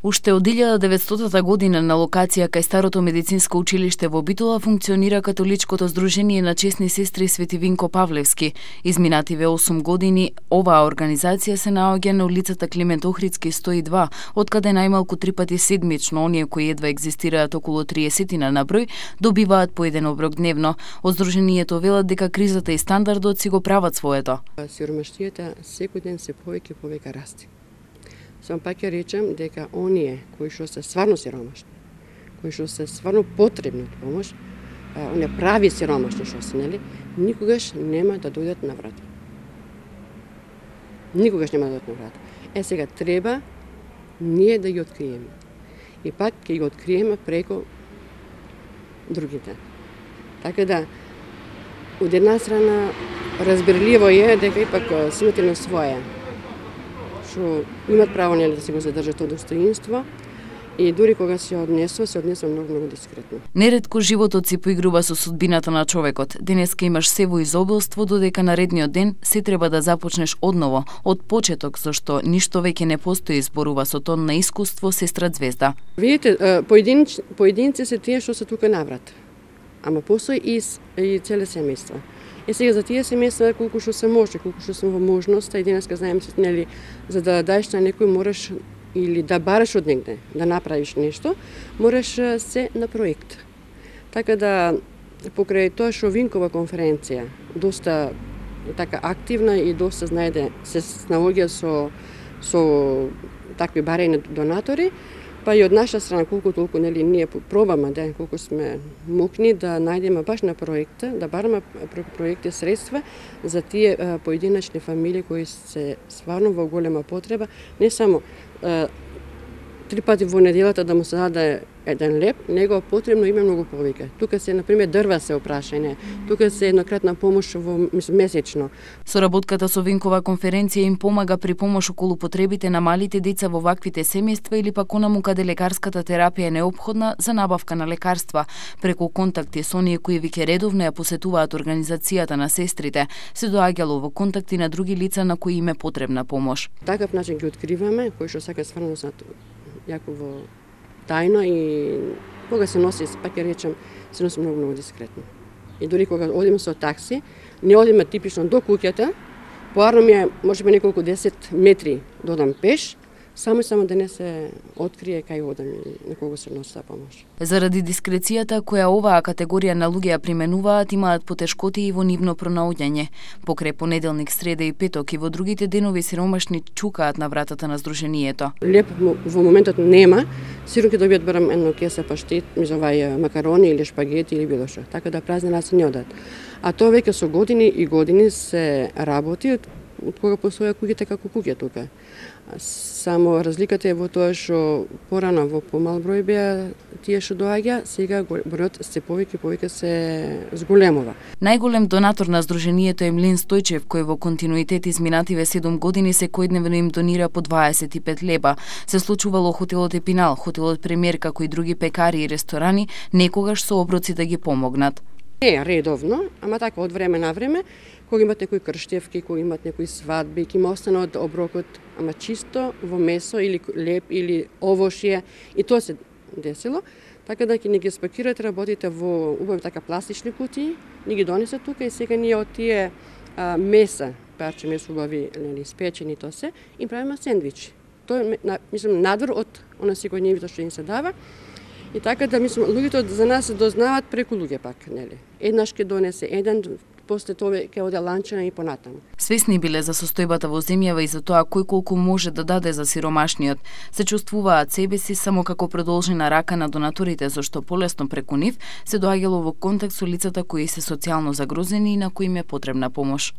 Уште од 1900 година на локација кај старото медицинско училиште во Битола функционира католичкото здружение на чесни сестри Свети Винко Павлевски. Изминативе 8 години оваа организација се наоѓа на улицата Климент Охридски 102, откаде најмалку 3 пати седмично оние кои едва екзистираат околу 30 на број добиваат по еден оброк дневно. Од здруженијето велат дека кризата и стандардот си го прават своето. Сиромаштијата секој ден се повеќе расте. Само пак ќе речем дека оние кои што се стварно сиромашни, кои што се стварно потребни од помош, оние прави сиромашни што се, нели, никогаш нема да дојдат на врата. Никогаш нема да дојдат на врата. Сега треба ние да ги откриеме. И пак ќе ги откриеме преку другите. Така да, од една страна разбирливо е дека ипак сите на своја, што имат право нели да се го задржат тоа достоинство и дури кога се однесува многу дискретно. Неретко животот си поигрува со судбината на човекот. Денеска имаш се во изобилство, додека наредниот ден се треба да започнеш одново, од почеток, зашто ништо веќе не постои, зборува со тон на искуство сестра Звезда. Видите, поединци се тие што се тука наврат. Ама постои и целе семејства. Сега за тие семејства колку што се може, колку што сме во можноста и денеска знаеме се, нели, за да даеш на некој мораш или да бараш од негде, да направиш нешто, мораш се на проект. Така да покрај тоа што Винкова конференција доста така активна и доста знаеде се наоѓа со такви барања донатори, па и од наша страна колку толку нели ние пробаме да колку сме мокни да најдеме баш на проекта, да бараме преку проекти средства за тие поединечни фамилии кои се стварно во голема потреба, не само 3 пати во неделата да му се даде еден леп, него потребно има многу повеќе. Тука се, например, дрва се опрашање, тука се еднократна помош месечно. Соработката со Винкова конференција им помага при помош околу потребите на малите деца во ваквите семејства или пак онаму каде лекарската терапија е неопходна за набавка на лекарства. Преку контакти со оние кои веќе редовно ја посетуваат организацијата на сестрите, се доаѓало во контакти на други лица на кои им е потребна помош. Такав начин ги откриваме, кои што сака стварно јако во тајно и кога се носи, пак ќе речем, се носи многу дискретно. И дори кога одиме со такси, не одиме типично до куќата, поарно ми е можеби неколку 10 метри додам пеш, само да не се открие кај одам и на кого се носи таа помош. Заради дискрецијата која оваа категорија на луѓе ја применуваат, имаат потешкоти и во нивно пронаоѓање. Покрај понеделник, среда и петок и во другите денови сиромашни чукаат на вратата на здруженијето. Леп во моментот нема, сигурно ќе добијат барем едно кеса паштет, мизовај макарони или шпагети или било што. Така да празни раце не одат. А тоа веќе со години и години се работи од кога постоја куќите како куќа тука. Само разликата е во тоа што порано во помал број беа тие што доаѓа, сега бројот се повеќе се зголемува. Најголем донатор на здруженијето е Млин Стојчев, кој во континуитет изминативе 7 години секојдневно им донира по 25 леба. Се случувало хотелот Епинал, хотелот Премиер, како и други пекари и ресторани, некогаш со оброци да ги помогнат. Не редовно, ама така од време на време, кога имат некои крштевки, кога имат некои свадби, ќе има остане од оброкот, ама чисто во месо или леп или овошје, и тоа се десило. Така да ќе не ги спакирате работите во убави така пластични кутии, ни ги донесе тука и сега ние од тие меса, парче месо убави, спечени тоа се, и правиме сендвичи. Тоа е, мислам, надвор од она секојдневното што им се дава. И така да, мислам, луѓето за нас дознаваат преку луѓе пак, нели? Еднаш ќе донесе еден, после тоа ќе оде ланчина и понатаму. Свесни биле за состојбата во земјава и за тоа кој колку може да даде за сиромашниот. Се чувствуваат себе си само како продолжена рака на донаторите, зашто полесно преку нив се доаѓало во контакт со лицата кои се социјално загрозени и на кои им е потребна помош.